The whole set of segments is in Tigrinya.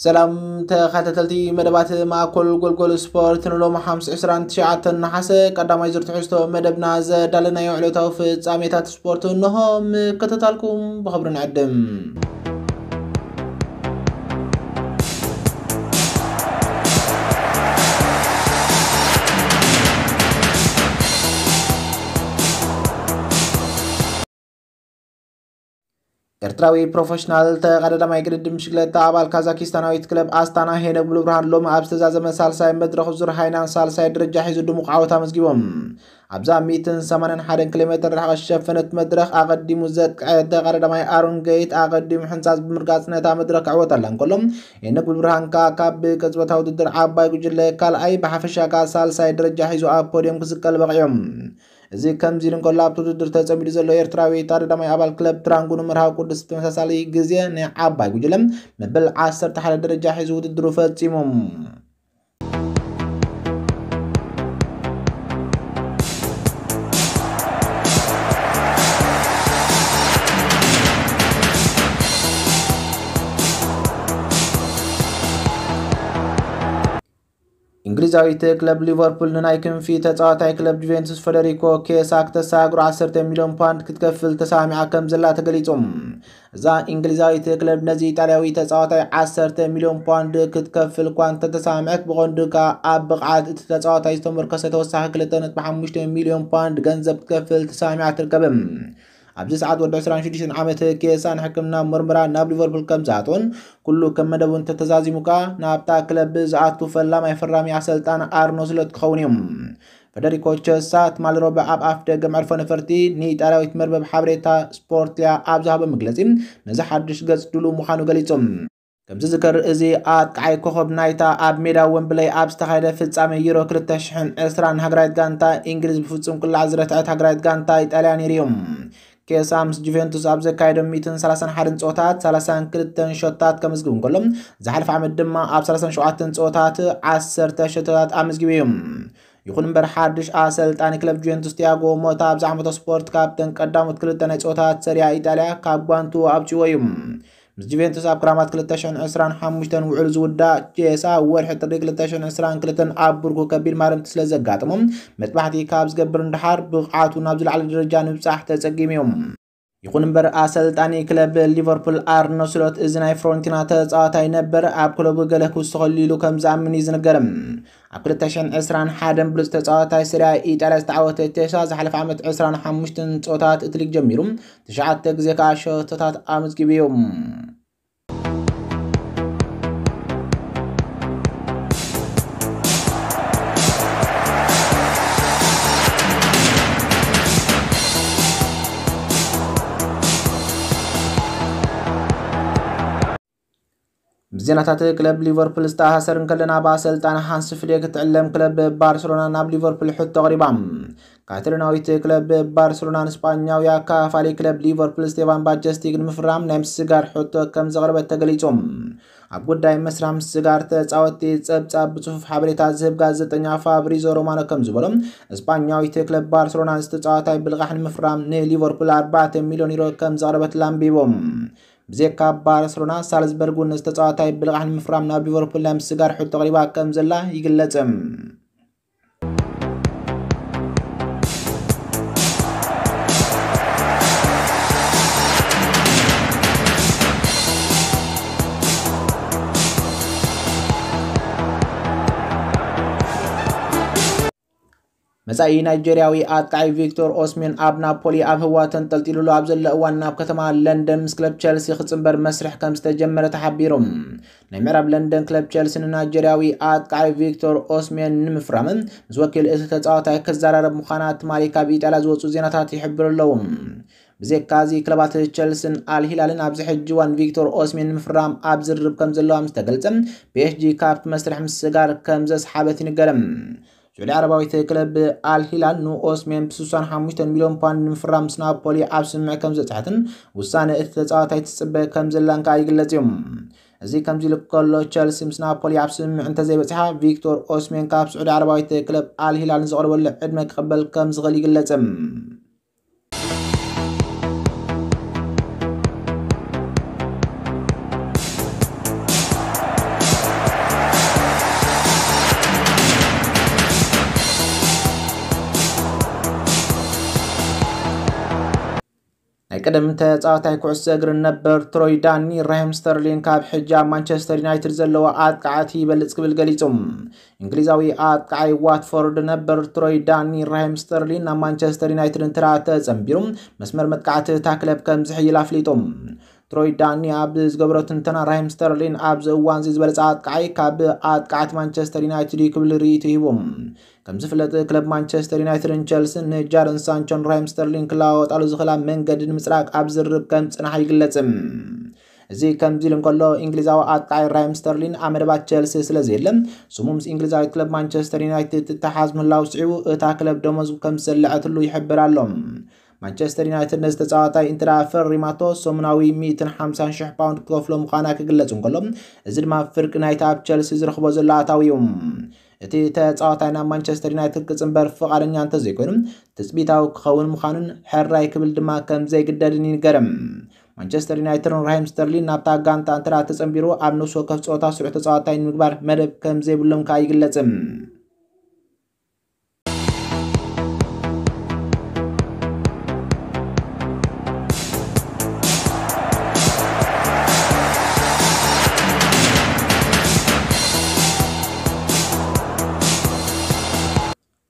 ሰላም ተኸታተልቲ መደባት ማእኮል ጎልጎል ስፖርት፣ ንሎሚ ሓሙስ ዕስራን ትሽዓተን ነሓሰ ቀዳማይ ዙር ትሕዝቶ መደብና ዘዳለናዮ ዕለታዊ ፍጻሜታት ስፖርት እንሆ ምክትታልኩም ብኽብሪ ንዕድም። ኤርትራዊ ፕሮፌሽናል ተቐዳዳማይ ቅድድም ብሽክለታ ኣባል ካዛኪስታናዊት ክለብ ኣስታና ሄኖክ ብሉብርሃን ሎሚ ኣብ ዝተዛዘመ ሳልሳይ መድረኽ ዙር ሃይናን ሳልሳይ ደረጃ ሒዙ ድሙቕ ዓወት ኣመዝጊቦም። ኣብዛ ሚእትን ሰማንያን ሓደን ኪሎ ሜትር ርሕቀት ዝሸፈነት መድረኽ ኣቐዲሙ ዘጥቅዐ ተቐዳዳማይ ኣሮን ገይት ኣቐዲሙ ሕንጻጽ ብምርጋጽ ነታ መድረኽ ክዕወተላ እንከሎ፣ ሄኖክ ብሉብርሃን ከኣ ካብ ቅጽበታዊ ውድድር ዓባይ ጉጅለ ካልኣይ ብሓፈሻ ከኣ ሳልሳይ ደረጃ ሒዙ ኣብ ፖድዮም ክስቀል በቒዑ። እዚ ከምዚ ኢሉ እንከሎ፣ ኣብቲ ውድድር ተጸሚዱ ዘሎ ኤርትራዊ ተቐዳዳማይ ኣባል ክለብ ትራንጉ ንምርሃው ቅዱስ ብተመሳሳሊ ግዜ ንዓባይ ጉጅለ መበል ዓሰርተ ሓደ ደረጃ ሒዙ ውድድሩ ፈጺሙ። እንግሊዛዊት ክለብ ሊቨርፑል ንናይ ክንፊ ተጻዋታይ ክለብ ጁቬንቱስ ፈደሪኮ ኬሳ ክተሰጋግሮ ዓሰርተ ሚልዮን ፓውንድ ክትከፍል ተሰማሚዓ ከም ዘላ ተገሊጹ። እዛ እንግሊዛዊት ክለብ ነዚ ኢጣልያዊ ተጻዋታይ ዓሰርተ ሚልዮን ፓውንድ ክትከፍል እኳ እንተተሰማምዐት፣ ብቐንዱ ከኣ ኣብ ብቕዓት እቲ ተጻዋታይ ዝተመርኮሰ ተወሳኺ ክልተ ነጥቢ ሓሙሽተ ሚልዮን ፓውንድ ገንዘብ ክትከፍል ተሰማሚዓ ትርከብ። ኣብዚ ሰዓት ወዲ ዕስራን ሽዱሽተን ዓመት ኬሳ ንሕክምና ምርመራ ናብ ሊቨርፑል ከም ዝኣትወን ኩሉ ከም መደቡ እንተተዛዚሙ ከኣ ናብታ ክለብ ዝኣቱ ፈላማይ ፈራሚ ኣሰልጣን ኣርነ ስሎት ክኸውን እዩ። ፈደሪኮ ቸሳ ትማሊ ረቡዕ ኣብ ኣፍ ደገ መዕርፎ ነፈርቲ ንኢጣልያዊት መርበብ ሓበሬታ ስፖርትያ ኣብ ዝሃቦ መግለጺ፣ ነዚ ሓድሽ ገጽ ድሉው ምዃኑ ገሊጹ። ከም ዝዝከር፣ እዚ ኣጥቃዓይ ኮኸብ ናይታ ኣብ ሜዳ ወምብለይ ኣብ ዝተኻየደ ፍጻሜ ዩሮ ክልተ ሽሕን ዕስራን ሃገራዊት ጋንታ እንግሊዝ ብፍጹም ቅላዕ ዝረትዐት ሃገራዊት ጋንታ ኢጣልያ ነይሩ እዩ። ኬሳ ምስ ጁቬንቱስ ኣብ ዘካየዶም ሚእትን ሰላሳን ሓደን ጸወታት ሰላሳን ክልተን ሸቶታት ከመዝግብ እንከሎ፣ ዝሓለፈ ዓመት ድማ ኣብ ሰላሳን ሸውዓተን ጸወታት ዓሰርተ ሸቶታት ኣመዝጊቡ እዩ። ይኹን እምበር፣ ሓድሽ ኣሰልጣኒ ክለብ ጁቬንቱስ ቲያጎ ሞታ ኣብዚ ዓመተ ስፖርት ካብተን ቀዳሞት ክልተ ናይ ጸወታት ሰሪያ ኢጣልያ ካብ ጓንቱ ኣውጺዎ እዩ። ምስ ጁቬንቱስ ኣብ ክራማት ክልተ ሽሕን ዕስራን ሓሙሽተን ውዕሉ ዝውዳእ ኬሳ፣ ወርሒ ጥሪ ክልተ ሽሕን ዕስራን ክልተን ኣብ ብርኩ ከቢድ ማረምቲ ስለ ዘጋጠሞ፣ መጥባሕቲ ካብ ዝገብር ንደሓር ብቕዓቱ ናብ ዝለዓለ ደረጃ ንምብጻሕ ተጸጊሙ እዩ። ይኹን እምበር፣ ኣሰልጣኒ ክለብ ሊቨርፑል ኣርነ ስሎት፣ እዚ ናይ ፍሮንቲና ተጻዋታይ ነበር ኣብ ክለቡ ገለ ክውስኸሉ ኢሉ ከም ዝኣምን እዩ ዝንገር። ኣብ ክልተ ሽሕን ዕስራን ሓደን ብሉጽ ተጻዋታይ ሰሪያ ኢጣልያ ዝተዓወተ ኬሳ፣ ዝሓለፈ ዓመት ዕስራን ሓሙሽተን ጸወታት እቲ ሊግ ጀሚሩ፣ ትሽዓተ ግዜ ከኣ ሸቶታት ኣመዝጊቡ እዩ። ብዜናታት ክለብ ሊቨርፑል ዝተኣሳሰር እንከለና፣ ብኣሰልጣን ሃንስ ፍሊክ እትዕለም ክለብ ባርሰሎና ናብ ሊቨርፑል ሕቶ ኣቕሪባ። ካታሎናዊት ክለብ ባርሰሎና ንስጳኛዊ ኣካፋሊ ክለብ ሊቨርፑል ስቴቫን ባጀስቲክ ንምፍራም ናይ ምስጋር ሕቶ ከም ዘቕረበት ተገሊጹ። ኣብ ጉዳይ መስርሕ ምስጋር ተጻወትቲ ጸብጻብ ብጽፉፍ ሓበሬታ ዝህብ ጋዜጠኛ ፋብሪዞ ሮማኖ ከም ዝበሎ፣ ስጳኛዊት ክለብ ባርሰሎና ንዝተጻዋታይ ብልቓሕ ንምፍራም ንሊቨርፑል ኣርባዕተ ሚልዮን ዩሮ ከም ዘቕረበትላ ኣንቢቦም። ብዘይካ ባርሰሎና፣ ሳልዝበርግ እውን ንዝተጻዋታይ ብልቓሕ ንምፍራም ናብ ሊቨርፑል ናይ ምስጋር ሕቶ ኣቕሪባ ከም ዘላ ይግለጽ። መጻኢ ናይጀርያዊ ኣጥቃዒ ቪክቶር ኦስሜን ኣብ ናፖሊ ኣብ ህዋ ተንጠልጢሉሉ ኣብ ዘሎ እዋን፣ ናብ ከተማ ለንደን ምስ ክለብ ቸልሲ ክጽንበር መስርሕ ከም ዝተጀመረ ተሓቢሩ። ናይ ምዕራብ ለንደን ክለብ ቸልሲ ንናይጀርያዊ ኣጥቃዒ ቪክቶር ኦስሜን ንምፍራምን ምስ ወኪል እቲ ተጻዋታይ ክዘራረብ ምዃና ትማሊ ካብ ኢጣልያ ዝወጹ ዜናታት ይሕብሩ ኣለዉ። ብዘይካዚ፣ ክለባት ቸልስን ኣልሂላልን ኣብዚ ሕጂ እዋን ቪክቶር ኦስሜን ንምፍራም ኣብ ዝርርብ ከም ዘለዋ ምስ ተገልጸ፣ ፒ ኤስ ጂ ካብቲ መስርሕ ምስጋር ከም ዘስሓበት ይንገር። ስዑዲ ዓረባዊት ክለብ ኣልሂላል ንኦስሜን ብ ስሳን ሓሙሽተን ሚልዮን ፓውንድ ንምፍራም ምስ ናፖሊ ኣብ ስምምዕ ከም ዝበጽሐትን ውሳነ እቲ ተጻዋታይ ትጽበ ከም ዘላን ከኣ ይግለጽ እዩ። እዚ ከምዚ ኢሉ ከሎ፣ ቸልሲ ምስ ናፖሊ ኣብ ስምምዕ እንተዘይበጺሓ፣ ቪክቶር ኦስሜን ካብ ስዑዲ ዓረባዊት ክለብ ኣልሂላል ንዝቐረበሉ ዕድመ ክቕበል ከም ዝኽእል ይግለጽ። ናይ ቀደም ተጻዋታይ ኩዕሶ እግሪ ነበር ትሮይ ዳኒ፣ ራሂም ስተርሊን ካብ ሕጂ ኣብ ማንቸስተር ዩናይትድ ዘለዎ ኣጥቃዕቲ ይበልጽ ክብል ገሊጹ። እንግሊዛዊ ኣጥቃዓይ ዋትፎርድ ነበር ትሮይ ዳኒ፣ ራሂም ስተርሊን ናብ ማንቸስተር ዩናይትድ እንተ ተጸንቢሩ፣ መስመር መጥቃዕቲ እታ ክለብ ከም ዝሕይል ኣፍሊጡ። ትሮይ ዳኒ ኣብ ዝገበሮ ትንተና፣ ራሂም ስተርሊን ኣብዚ እዋን እዚ ዝበለጸ ኣጥቃዓይ ካብ ኣጥቃዕቲ ማንቸስተር ዩናይትድ እዩ ክብል ርእይቶ ሂቡ። ከም ዝፍለጥ፣ ክለብ ማንቸስተር ዩናይትድን ቸልስን ንጃደን ሳንቾን ራሂም ስተርሊን ክለዋወጣሉ ዝኽእላ መንገዲ ንምጽራግ ኣብ ዝርርብ ከም ዝጸንሓ ይግለጽ። እዚ ከምዚ ኢሉ እንከሎ፣ እንግሊዛዊ ኣጥቃዓይ ራሂም ስተርሊን ኣብ መደባት ቸልሲ ስለ ዘየለ፣ ስሙ ምስ እንግሊዛዊት ክለብ ማንቸስተር ዩናይትድ ትተሓዝ ምህላው ስዒቡ፣ እታ ክለብ ደሞዝ ከም ዝሰለዐትሉ ይሕብር ኣሎ። ማንቸስተር ዩናይትድ ነዚ ተጻዋታይ እንተ ደኣ ፈሪማቶ፣ ሰሙናዊ ሚእትን ሓምሳን ሽሕ ፓውንድ ክከፍሎ ምዃና ክግለጽ እንከሎ፣ እዚ ድማ ፍርቂ ናይቲ ኣብ ቸልሲ ዝረኽቦ ዘሎ ኣታዊ እዩ። እቲ ተጻዋታይ ናብ ማንቸስተር ዩናይትድ ክጽንበር ፍቓደኛ እንተዘይኮይኑ፣ ትጽቢታዊ ክኸውን ምዃኑን ሕራይ ክብል ድማ ከም ዘይግደድን ይንገር። ማንቸስተር ዩናይትድን ራሂም ስተርሊን ናብታ ጋንታ እንተ ደኣ ተጸንቢሩ፣ ኣብ ነፍሲ ወከፍ ጸወታ ስሩዕ ተጻዋታይ ንምግባር መደብ ከም ዘይብሎም ከኣ ይግለጽ።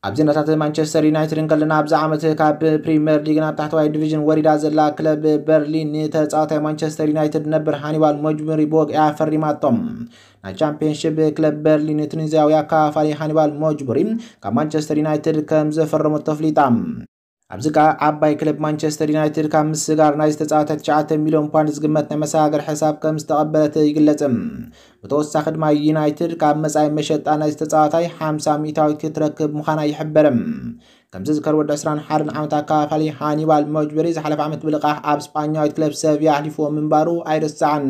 ኣብ ዜናታት ማንቸስተር ዩናይትድ እንከለና፣ ኣብዚ ዓመት ካብ ፕሪምየር ሊግ ናብ ታሕተዋይ ዲቪዥን ወሪዳ ዘላ ክለብ በርሊን ንተጻዋታይ ማንቸስተር ዩናይትድ ነበር ሃኒባል ሞጅቡሪ ብወግዒ ኣፈሪማቶም። ናይ ቻምፒየንሺፕ ክለብ በርሊን ቱኒዝያዊ ኣካፋሊ ሃኒባል ሞጅቡሪ ካብ ማንቸስተር ዩናይትድ ከም ዘፈረመቶ ኣፍሊጣ። ኣብዚ ከኣ ዓባይ ክለብ ማንቸስተር ዩናይትድ ካብ ምስጋር ናይ ዝተጻወተ ትሽዓተ ሚልዮን ፓውንድ ዝግመት ናይ መሰጋገሪ ሕሳብ ከም ዝተቐበለት ይግለጽ። ብተወሳኺ ድማ ዩናይትድ ካብ መጻኢ መሸጣ ናይ ዝተጻዋታይ ሓምሳ ሚእታዊት ክትረክብ ምዃና ይሕበር። ከምዚ ዝከር ወዲ ዕስራን ሓደን ዓመት ኣካፋሊ ሃኒባል ሞጅበሪ ዝሓለፈ ዓመት ብልቓሕ ኣብ ስጳኛዊት ክለብ ሰቪያ ኣሕሊፍዎ ምንባሩ ኣይርሳዕን።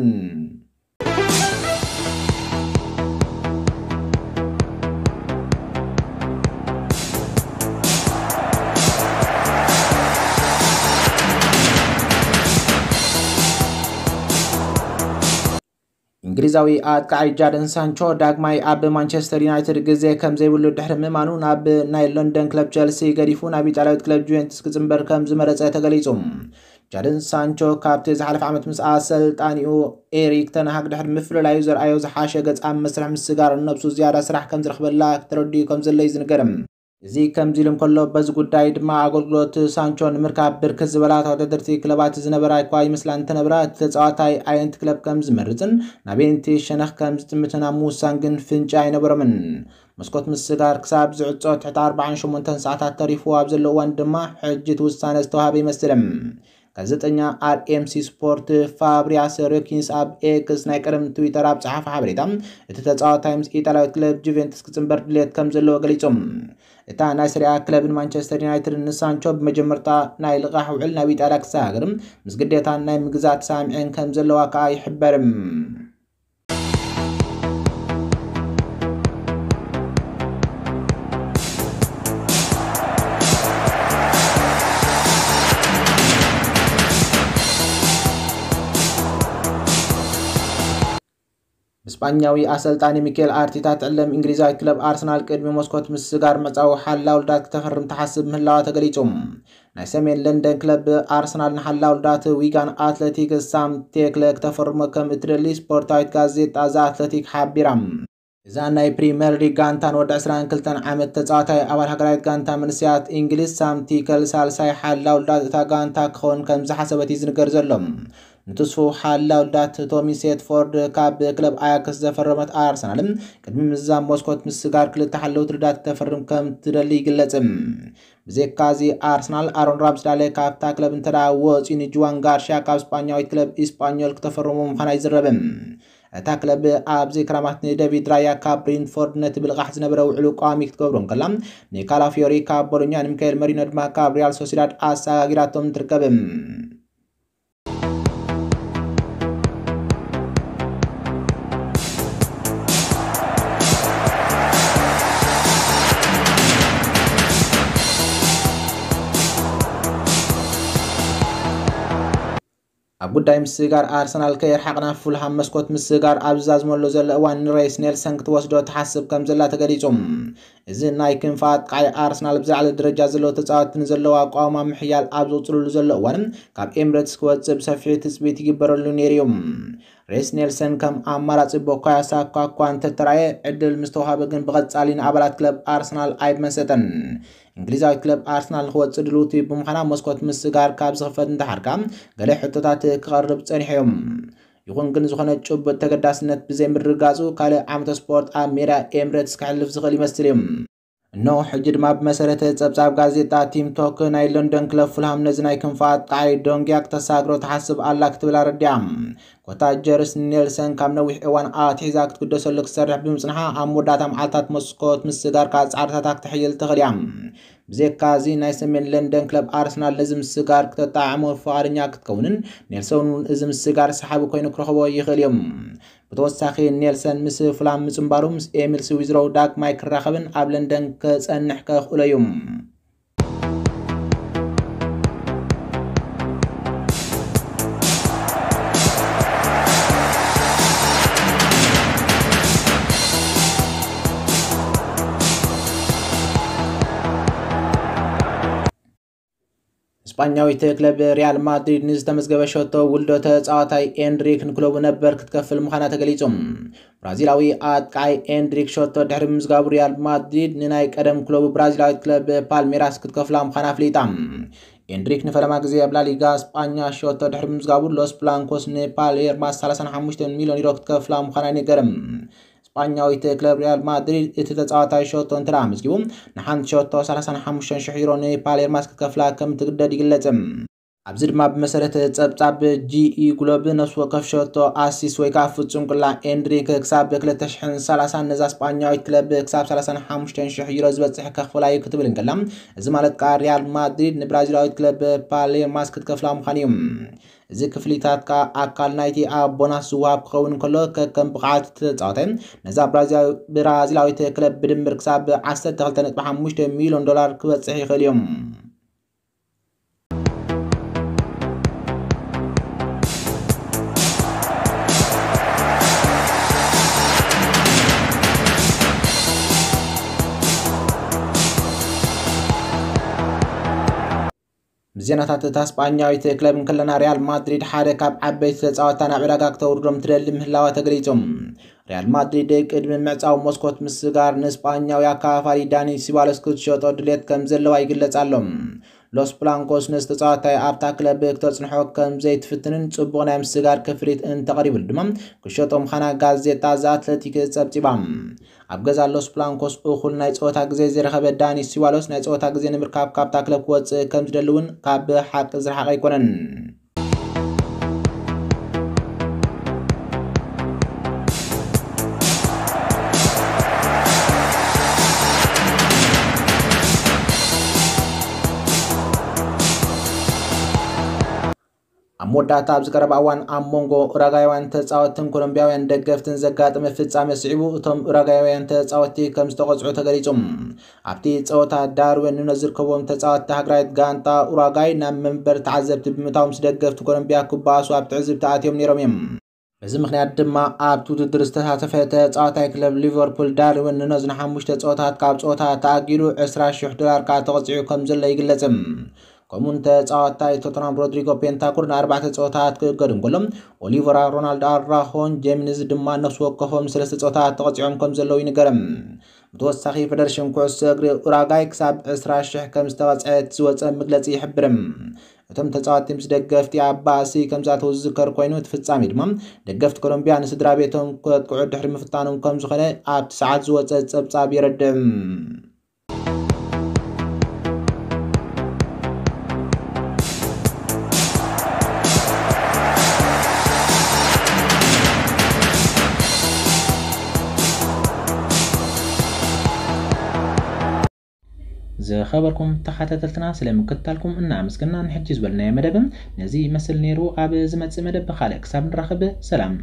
እንግሊዛዊ ኣጥቃዓይ ጃደን ሳንቾ ዳግማይ ኣብ ማንቸስተር ዩናይትድ ግዜ ከም ዘይብሉ ድሕሪ ምእማኑ፣ ናብ ናይ ሎንደን ክለብ ቸልሲ ገዲፉ ናብ ኢጣልያዊት ክለብ ጁቬንቱስ ክጽንበር ከም ዝመረጸ ተገሊጹ። ጃደን ሳንቾ ካብቲ ዝሓለፈ ዓመት ምስ ኣሰልጣኒኡ ኤሪክ ተንሃግ ድሕሪ ምፍልላዩ ዘርኣዮ ዝሓሸ ገጽ ኣብ መስርሕ ምስጋር ነብሱ ዝያዳ ስራሕ ከም ዝረኽበላ ተረዲኡ ከም ዘሎ እዩ ዝንገር። እዚ ከምዚ ኢሉ እንከሎ፣ በዚ ጉዳይ ድማ ኣገልግሎት ሳንቾ ንምርካብ ብርክት ዝበላ ተወዳደርቲ ክለባት ዝነበራ እኳ ይመስላ እንተነበራ፣ እቲ ተጻዋታይ ኣየንቲ ክለብ ከም ዝመርጽን ናበየንቲ ሸነኽ ከም ዝጥምትን ኣብ ምውሳን ግን ፍንጪ ኣይነበሮምን። መስኮት ምስጋር ክሳብ ዝዕጾ ትሕቲ ኣርባዓን ሸሞንተን ሰዓታት ተሪፉ ኣብ ዘሎ እዋን ድማ፣ ሕጂ እቲ ውሳነ ዝተዋህበ ይመስል። ጋዜጠኛ ኣር ኤም ሲ ስፖርት ፋብሪያስ ሮኪንስ ኣብ ኤክስ፣ ናይ ቀደም ትዊተር፣ ኣብ ጸሓፎ ሓበሬታ፣ እቲ ተጻዋታይ ምስ ኢጣልያዊት ክለብ ጁቬንቱስ ክጽንበር ድሌት ከም ዘለዎ ገሊጹ። እታ ናይ ሰሪኣ ክለብን ማንቸስተር ዩናይትድን ንሳንቾ ብመጀመርታ ናይ ልቓሕ ውዕል ናብ ኢጣልያ ክሰጋገር ምስ ግዴታ ናይ ምግዛእ ተሰማሚዐን ከም ዘለዋ ከኣ ይሕበር። ብስጳኛዊ ኣሰልጣኒ ሚኬል ኣርቴታ ትዕለም እንግሊዛዊት ክለብ ኣርሰናል ቅድሚ መስኮት ምስጋር ምዕጻዊ ሓላው ልዳት ክተፈርም ትሓስብ ምህላዋ ተገሊጹ። ናይ ሰሜን ለንደን ክለብ ኣርሰናል ንሓላው ልዳት ዊጋን ኣትሌቲክስ ሳም ቴክለ ክተፈርሞ ከም እትደሊ ስፖርታዊት ጋዜጣ ዘ ኣትሌቲክ ሓቢራ። እዛ ናይ ፕሪምየር ሊግ ጋንታን ወዲ ዕስራን ክልተን ዓመት ተጻዋታይ ኣባል ሃገራዊት ጋንታ መንእሰያት እንግሊዝ ሳም ቲከል ሳልሳይ ሓላው ልዳት እታ ጋንታ ክኸውን ከም ዝሓሰበት እዩ ዝንገር ዘሎ። ንትስፉው ሓላው ልዳት ቶሚ ሴትፎርድ ካብ ክለብ ኣያክስ ዘፈረመት ኣርሰናል፣ ቅድሚ ምዝዛም መስኮት ምስጋር ክልተ ሓለውቲ ልዳት ክተፈርም ከም ትደሊ ይግለጽ። ብዘይካዚ፣ ኣርሰናል ኣሮን ራምስዳለ ካብታ ክለብ እንተ ደኣ ወጺኡ፣ ንጁዋን ጋርሽያ ካብ ስጳኛዊት ክለብ ኢስጳኞል ክተፈርሞ ምዃና ይዝረብ። እታ ክለብ ኣብዚ ክረማት ንደቪድ ራያ ካብ ብሬንትፎርድ ነቲ ብልቓሕ ዝነበረ ውዕሉ ቋሚ ክትገብሮ እንከላ፣ ንካላፊዮሪ ካብ ቦሎኛ፣ ንሚካኤል መሪኖ ድማ ካብ ሪያል ሶሲዳድ ኣሰጋጊራቶም ትርከብ። ኣብ ጉዳይ ምስጋር ኣርሰናል ከየርሓቕና፣ ፉልሃም መስኮት ምስጋር ኣብ ዝዛዝመሉ ዘሎ እዋን፣ ንሬስ ኔልሰን ክትወስዶ ትሓስብ ከም ዘላ ተገሊጹ። እዚ ናይ ክንፊ ኣጥቃዓይ ኣርሰናል ብዝለዓለ ደረጃ ዘለዎ ተጻወቲ ንዘለዎ ኣቋውማ ምሕያል ኣብ ዝቕጽልሉ ዘሎ እዋን፣ ካብ ኤምሬትስ ክወጽእ ብሰፊሑ ትጽቢት ይግበረሉ ነይሩ እዩ። ሬስ ኔልሰን ከም ኣማራጺ ብኳያ ሳካ እኳ እንተተራእየ፣ ዕድል ምስ ተዋሃበ ግን ብቐጻሊ ንኣባላት ክለብ ኣርሰናል ኣይመሰጠን። እንግሊዛዊት ክለብ ኣርሰናል ንክወጽእ ድልውቲ ብምዃና መስኮት ምስጋር ካብ ዝኽፈት እንተሓርካ፣ ገለ ሕቶታት ክቐርብ ጸኒሑ እዮም። ይኹን ግን ዝኾነ ጭቡጥ ተገዳስነት ብዘይምርግጋጹ፣ ካልእ ዓመተ ስፖርት ኣብ ሜዳ ኤምሬትስ ከሕልፍ ዝኽእል ይመስል እዩ። እነሆ ሕጂ ድማ ብመሰረተ ጸብጻብ ጋዜጣ ቲም ቶክ፣ ናይ ለንደን ክለብ ፉልሃም ነዚ ናይ ክንፊ ኣጥቃዓይ ዶንግያ ክተሳግሮ ትሓስብ ኣላ ክትብል ኣረዲኣ። ኮታ ጀርስ ኔልሰን ካብ ነዊሕ እዋን ኣትሒዛ ክትግደሰሉ ክትሰርሕ ብምጽንሓ፣ ኣብ መወዳእታ መዓልታት መስኮት ምስጋር ካብ ጻዕርታታ ክተሕይል ትኽእል እያ። ብዘይካ እዚ፣ ናይ ሰሜን ለንደን ክለብ ኣርሰናል ነዚ ምስጋር ክተጣዕሞ ፍቓደኛ ክትከውንን፣ ኔልሰን እውን እዚ ምስጋር ሰሓቢ ኮይኑ ክረኽቦ ይኽእል እዩ። ብተወሳኺ፣ ኔልሰን ምስ ፉላም ምጽንባሩ፣ ምስ ኤሚል ስዊዝሮው ዳግማይ ክራኸብን ኣብ ለንደን ክጸንሕ ከኽእሎ እዩ። ስጳኛዊት ክለብ ሪያል ማድሪድ ንዝተመዝገበ ሸቶ ውልዶ ተጻዋታይ ኤንድሪክ ንክለቡ ነበር ክትከፍል ምዃና ተገሊጹ። ብራዚላዊ ኣጥቃዓይ ኤንድሪክ ሸቶ ድሕሪ ምምዝጋቡ፣ ሪያል ማድሪድ ንናይ ቀደም ክለቡ ብራዚላዊት ክለብ ፓልሜራስ ክትከፍላ ምዃና ኣፍሊጣ። ኤንድሪክ ንፈለማ ግዜ ኣብ ላሊጋ ስጳኛ ሸቶ ድሕሪ ምምዝጋቡ፣ ሎስ ብላንኮስ ንፓልሜራስ ሰላሳን ሓሙሽተን ሚልዮን ዩሮ ክትከፍላ ምዃና ይንገር። ስጳኛዊት ክለብ ሪያል ማድሪድ እቲ ተጻዋታይ ሸቶ እንተ ኣመዝጊቡ፣ ንሓንቲ ሸቶ ሰላሳን ሓሙሽተን ሽሕ ዩሮ ንፓልሜራስ ክትከፍላ ከም ትግደድ ይግለጽ። ኣብዚ ድማ ብመሰረት ጸብጻብ ጂኢ ግሎብ፣ ነፍሲ ወከፍ ሸቶ፣ ኣሲስት ወይ ከዓ ፍጹም ቅላ ኤንድሪክ ክሳብ ክልተ ሽሕን ሰላሳን፣ ነዛ ስጳኛዊት ክለብ ክሳብ ሰላሳን ሓሙሽተን ሽሕ ዩሮ ዝበጽሕ ከኽፍላ እዩ ክትብል እንከላ፣ እዚ ማለት ከዓ ሪያል ማድሪድ ንብራዚላዊት ክለብ ፓልሜራስ ክትከፍላ ምዃኑ እዩ። እዚ ክፍሊታት ከዓ ኣካል ናይቲ ኣብ ቦናስ ዝወሃብ ክኸውን እንከሎ፣ ከከም ብቕዓት ተጻዋታይ ነዛ ብራዚላዊ-፣ ብራዚላዊት ክለብ ብድምር ክሳብ ዓሰርተ ክልተ ነጥቢ ሓሙሽተ ሚልዮን ዶላር ክበጽሕ ይኽእል እዩ። ብዜናታት እታ ስጳኛዊት ክለብ እንከለና፣ ሪያል ማድሪድ ሓደ ካብ ዓበይቲ ተጻወትታ ናብ ዕዳጋ ክተውርዶም ትደሊ ምህላዋ ተገሊጹ። ሪያል ማድሪድ ቅድሚ ምዕጻው መስኮት ምስጋር ንስጳኛዊ ኣካፋፋሊ ዳኒ ሲባሎስ ክትሸጦ ድሌት ከም ዘለዋ ይግለጽ ኣሎ። ሎስ ብላንኮስ ነዚ ተጻዋታይ ኣብታ ክለብ ክተጽንሖ ከም ዘይትፍትንን ጽቡቕ ናይ ምስጋር ክፍሊት እንተቐሪቡሉ ድማ ክሸጦ ምዃና ጋዜጣ ዘ ኣትለቲክ ጸብጺባ። ኣብ ገዛ ሎስ ብላንኮስ እኹል ናይ ጸወታ ግዜ ዝረኸበ ዳኒ ሲባሎስ ናይ ጸወታ ግዜ ንምርካብ ካብታ ክለብ ክወጽእ ከም ዝደሊ እውን ካብ ሓቂ ዝረሓቐ ኣይኮነን። ኣብ መወዳእታ ኣብዚ ቀረባ እዋን ኣብ መንጎ ኡራጋያውያን ተጻወትትን ኮሎምቢያውያን ደገፍትን ዘጋጠመ ፍጻመ ስዒቡ፣ እቶም ኡራጋያውያን ተጻወትቲ ከም ዝተቐጽዑ ተገሊጹ። ኣብቲ ጸወታ ዳርዊን ኑኖዝ ዝርከብዎም ተጻወትቲ ሃገራዊት ጋንታ ኡራጋይ ናብ መንበር ተዓዘብቲ ብምእታው ምስ ደገፍቲ ኮሎምቢያ ክበኣሱ ኣብ ትዕዝብቲ ኣትዮም ነይሮም እዮም። በዚ ምኽንያት ድማ ኣብቲ ውድድር ዝተሳተፈ ተጻዋታይ ክለብ ሊቨርፑል ዳርዊን ኑኖዝ ንሓሙሽተ ጸወታት ካብ ጸወታ ተኣጊዱ ዕስራ ሽሕ ዶላር ከኣ ተቐጺዑ ከም ዘሎ ይግለጽ። ከምኡውን ተጻዋታይ ቶተናም ሮድሪጎ ቤንታኩር ንኣርባዕተ ጸወታት ክእገዱ እንከሎ፣ ኦሊቨራ ሮናልዶ ኣራሆን ጄሚንዝ ድማ ነፍሲ ወከፎም ሰለስተ ጸወታት ተቐጺዖም ከም ዘለዉ ይንገር። ብተወሳኺ፣ ፌደሬሽን ኩዕሶ እግሪ ኡራጋይ ክሳብ ዕስራ ሽሕ ከም ዝተቐጽዐ እቲ ዝወጸ መግለጺ ይሕብር። እቶም ተጻወትቲ ምስ ደገፍቲ ኣብ ባእሲ ከም ዝኣተዉ ዝዝከር ኮይኑ፣ እቲ ፍጻሜ ድማ ደገፍቲ ኮሎምቢያ ንስድራ ቤቶም ከጥቅዑ ድሕሪ ምፍታኖም ከም ዝኾነ ኣብቲ ሰዓት ዝወጸ ጸብጻብ የረድእ። ዝኸበርኩም ተኸታተልትና፣ ስለ ምክትታልኩም እናኣመስገና፣ ንሕጂ ዝበልናዮ መደብ ነዚ ይመስል ነይሩ። ኣብ ዝመጽእ መደብ ብኻልእ ክሳብ ንራኸብ፣ ሰላም።